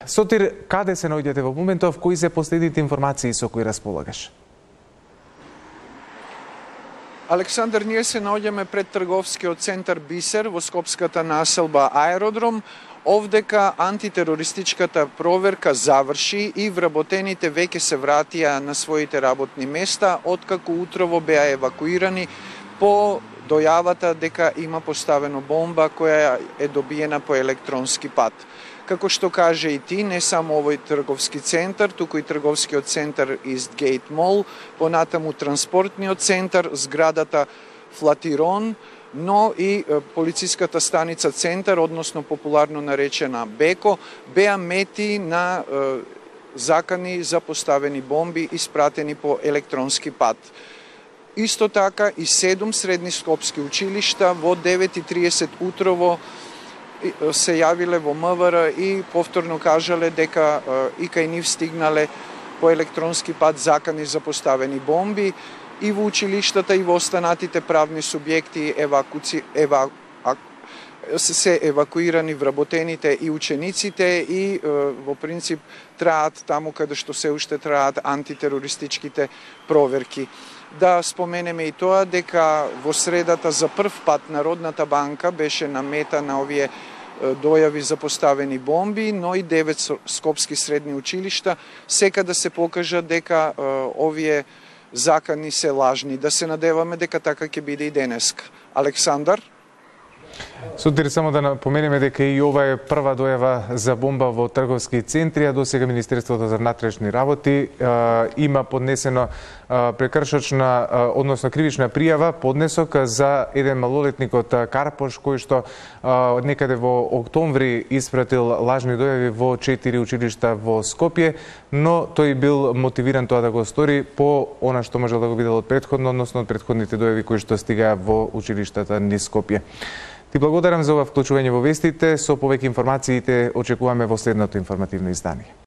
Сотир, каде се наоѓате во моментов, кои се последните информации со кои располагаш? Александар, ние се наоѓаме пред трговскиот центар Бисер во скопската населба Аеродром. Овдека антитерористичката проверка заврши и вработените веќе се вратија на своите работни места, откако утрово беа евакуирани по дојавата дека има поставено бомба која е добиена по електронски пат. Како што каже и ти, не само овој трговски центар, туку и трговскиот центар Eastgate Mall, понатаму транспортниот центар, зградата Флатирон, но и полициската станица Центар, односно популарно наречена Беко, беа мети на закани за поставени бомби испратени по електронски пат. Исто така и 7 средни скопски училишта во 9:30 утрово се јавиле во МВР и повторно кажале дека и кај нив стигнале по електронски пат закани за поставени бомби и во училиштата и во останатите правни субјекти се евакуирани вработените и учениците и во принцип траат таму каде што се уште траат антитерористичките проверки. Да споменеме и тоа дека во средата за прв пат Народната банка беше намета на овие дојави за поставени бомби, но и 9 скопски средни училишта сека да се покажа дека овие закани се лажни. Да се надеваме дека така ќе биде и денеска. Александар? Сотир, само да напоменеме дека и ова е прва дојава за бомба во трговски центри, а досега Министерството за внатрешни работи има поднесено прекршочна, односно кривична пријава, поднесок за еден малолетник од Карпош, кој што некаде во октомври испратил лажни дојави во 4 училишта во Скопје, но тој бил мотивиран тоа да го стори по она што можел да го видел од претходно, односно од претходните дојави кои што стигаа во училиштата низ Скопје. Ти благодарам за ова вклучување во вестите. Со повеќе информациите очекуваме во следното информативно издание.